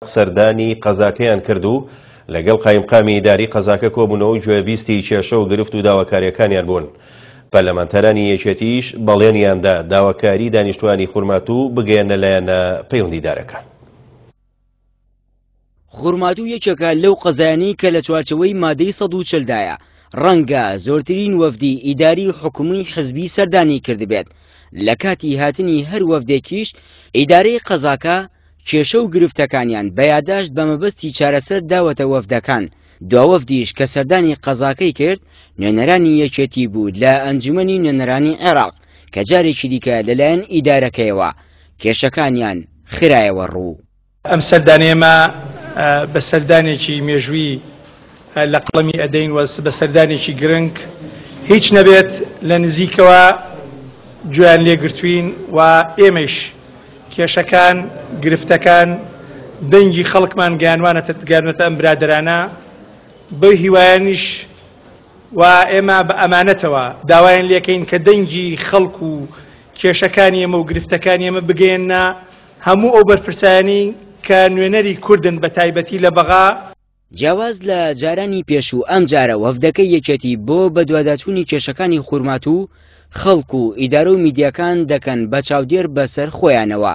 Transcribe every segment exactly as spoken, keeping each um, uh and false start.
سەردانی قەزاکەیان کرد و لەگەڵ قایمقامی ئیداری قەزاکە کۆبوونەوە و گوێبیستی کێشە و گرفت و داواکاریەکانیان بوون. پەرلەمانتارانی یەکێتیش بەڵێنیاندا داواکاری دانیشتوانی خورماتوو بگەیەنە لایەنە پەیوەندیدارەکان. خورماتوو یەکێکە لەو قەزایانەی کە لە چوارچەوەی مادەی سەد و چلدایە، ڕەنگە زۆرترین وەفدی ئیداری و حکومی حزبی سەردانی کردبێت. لە کاتی هاتنی هەر وەفدێکیش ئیدارەی قەزاکە کێشە و گرفتەکانیان بە یاداشت بە مەبەستی چارەسەر داوەتە وەفدەکان. دواوەفدیش کە سەردانی قەزاکەی کرد نوێنەرانی یەکێتی بوو لە ئەنجومەنی نوێنەرانی عێراق کە جارێکی دیکە لەلایەن ئیدارەکەیەوە کێشەکانیان خرایەوە ڕوو. ئەم سەردانێمە بە سەردانێکی مێژووی لە قەڵەمی ئەدەین و بە سەردانێکی گرنگ هیچ نەبێت لە نزیکەوە گوێیان لێگرتوین و ئێمەش کێشەکان گرفتەکان دەنگی خەڵکمان گەیانوانەتە گەیانوەتە ئەم برادەرانە بەو هیوایانیش و ئێمە بە ئەمانەتەوە داوایان لێکەین کە دەنگی خەڵک و کێشەکانی ئێمە و گرفتەکانی ئێمە بگەیەنە هەموو ئەو بەرپرسایانی کە نوێنەری کوردن بە تایبەتی لە بەغا. جیاواز لە جارانی پێشوو ئەم جارە وەفدەکەی یەکێتی بۆ بەدواداچوونی کێشەکانی خورماتوو خەڵک و ئیدارە و میدیاکان دەکەن بە چاودێر بەسەر خۆیانەوە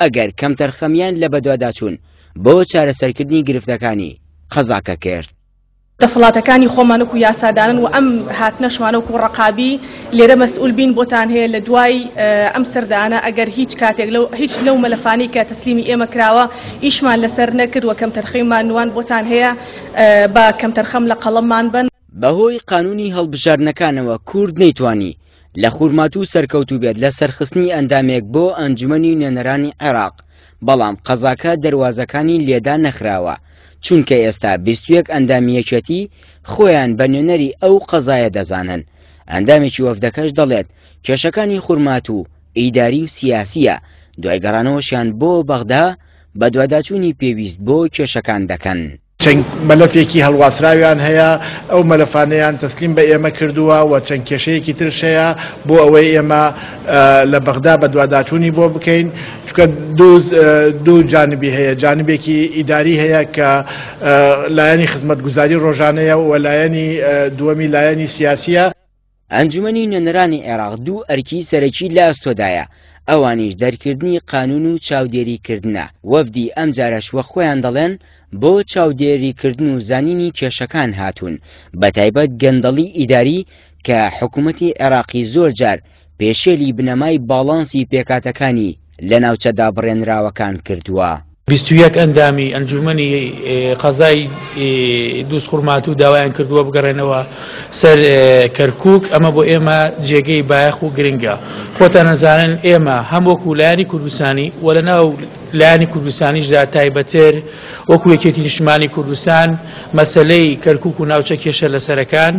ئەگەر کەمتەرخەمیان لە بەدواداچوون بۆ چارەسەرکردنی گرفتەکانی قەزاکە کرد. دەسەڵاتەکانی خۆمان وەکو یاسادانن و ئەم هاتنەشوانە وەکو ڕەقابی لێرە مەسئول بین بۆتان هەیە لە دوای ئەم سەردانە ئەگەر هیچ کاتێک لەو هیچ لەو مەلەفانەی کە تەسلیمی ئێمە کراوە ئیشمان لەسەر نەکرد و کەمتەرخەمیمان نوان بۆتان هەیە بە کەمتەرخەم لە قەڵەممان بن. بەهۆی قانونی هەڵبژاردنەکانەوە کورد نەیتوانی لە خورماتوو سەرکەوتوو بێت لە سەرخستنی ئەندامێک بۆ ئەنجومەنی نوێنەرانی عێراق، بەڵام قەزاکە دەروازەکانی لێدا نەخراوە، چونکە ئێستا بیست و یەک ئەندامی یەکێتی خۆیان بە نوێنەری ئەو قەزایە دەزانن. ئەندامێکی وەفدەکەش دەڵێت کێشەکانی خورماتوو ئیداری و سیاسیە، دوای گەڕانەوەشیان بۆ بەغدا بەدواداچوونی پێویست بۆ کێشەکان دەکەن. چەند مەلەفێکی هەڵواسراویان هەیە، ئەو مەلەفانەیان تەسلیم بە ئێمە کردووە و چەند کێشەیەکی ترش هەیە بۆ ئەوەی ئێمە لە بەغدا بەدواداچوونی بۆ بکەین، چونکە دوو جانبی هەیە، جانبێکی ئیداری هەیە کە لایەنی خزمەتگوزاری ڕۆژانەیە و لایەنی دووەمی لایەنی سیاسیە. ئەنجومەنی نوێنەرانی عێراق دوو ئەرکی سەرەکی لە ئەستۆدایە، ئەوانیش دەرکردنی قانون و چاودێریکردنە. وەفدی ئەم جارەش وە خۆیان دەڵێن بۆ چاودێریکردن و زانینی کێشەکان هاتوون، بە تایبەت گەندەڵی ئیداری کە حکوومەتی عێراقی زۆر جار پێشێلی بنەمای باڵانسی پێکاتەکانی لە ناوچە دابڕێنراوەکان کردووە. بیست و یەک ئەندامی ئەنجومەنی قەزای دووز خورماتوو داوایان کردووە بگەڕێنەوە سەر کەرکووک. ئەمە بۆ ئێمە جێگەی بایەخ و گرنگە. خۆتان نەزانن ئێمە هەم وەکو لایەنی کوردستانی و لەناو لایەنی کوردستانیشدا تایبەتر وەکو یەکێتی نیشتمانی کوردستان مەسەلەی کەرکووک و ناوچە کێشە لەسەرەکان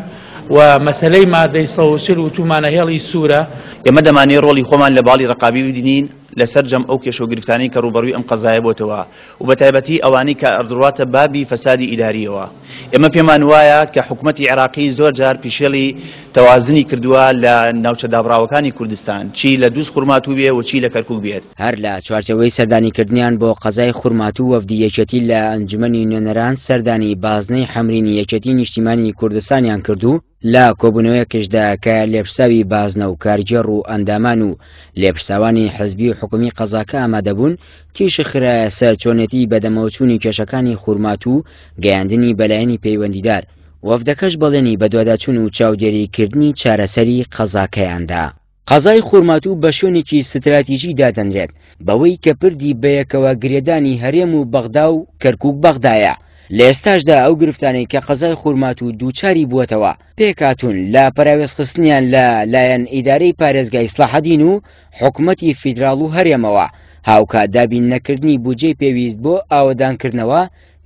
و مەسەلەی مادەی سەد و چل وتومانە هێڵی سوورە. ئێمە دەمانەوێت ڕۆڵی خۆمان لە باڵی ڕەقابی ببینین لەسەر جەم ئەو کێشە و گرفتانەی کە ڕووبەڕووی ئەم قەزایە بۆتەوە و بە تایبەتی ئەوانەی کە ئەڕواتە بابی فەسادی ئیداریەوە. ئێمە پێمان وایە کە حکوومەتی عێراقی زۆر جار پیشێڵی تەوازنی کردووە لە ناوچە دابڕاوەکانی کوردستان، چی لە دووز خورماتوو بێ و چی لە کەرکووک بێت. هەر لە چوارچەوەی سەردانیکردنیان بۆ قەزای خورماتوو وەفدی یەکێتی لە ئەنجومەنی نوێنەران سەردانی بازنەی حەمرینی یەکێتی نیشتیمانی کوردستانیان کردو لە کۆبوونەوەیەکیشدا کە لێپرساوی بازنە و کارگێڕ و ئەندامان و لێپرساوانی حزبی و حکومی قەزاکە ئامادەبوون، تیشک خرایە سەر چۆنێتی بەدەمەوەچوونی کێشەکانی خورماتوو و گەیاندنی بەلایەنی پەیوەندیدار. وەفدەکەش بەڵێنی بەدواداچوون و چاودێریکردنی چارەسەری قەزاکەیاندا. قەزای خورماتوو بە شوێنێکی ستراتیژی دادەنرێت بەوەی کە پردی بەیەکەوە گرێدانی هەرێم و بەغدا و کەرکووک بەغدایە. لە ئێستاشدا ئەو گرفتانەی کە قەزای خورماتوو دووچاری بووەتەوە پێکاتون لە پەراوێزخستنیان لە لایەن ئیدارەی پارێزگای سڵاحەدین و حکوومەتی فیدراڵ و هەرێمەوە، هاوکات دابین نەکردنی بودجەی پێویست بۆ ئاوەدانکردنەوە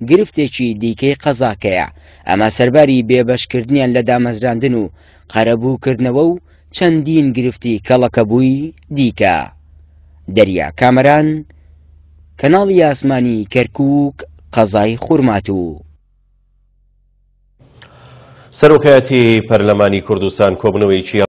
گرفتێکی دیکەی قەزاکەیە. ئەمە سەرباری بێبەشکردنیان لە دامەزراندن و قەرەبووکردنەوە و چەندین گرفتی کەڵەکەبووی دیکە. دەریا کامەران، کەناڵی ئاسمانی کەرکووک، قەزای خورماتوو. سەرۆکایەتی پەرلەمانی کوردستان کۆبوونەوەیەکی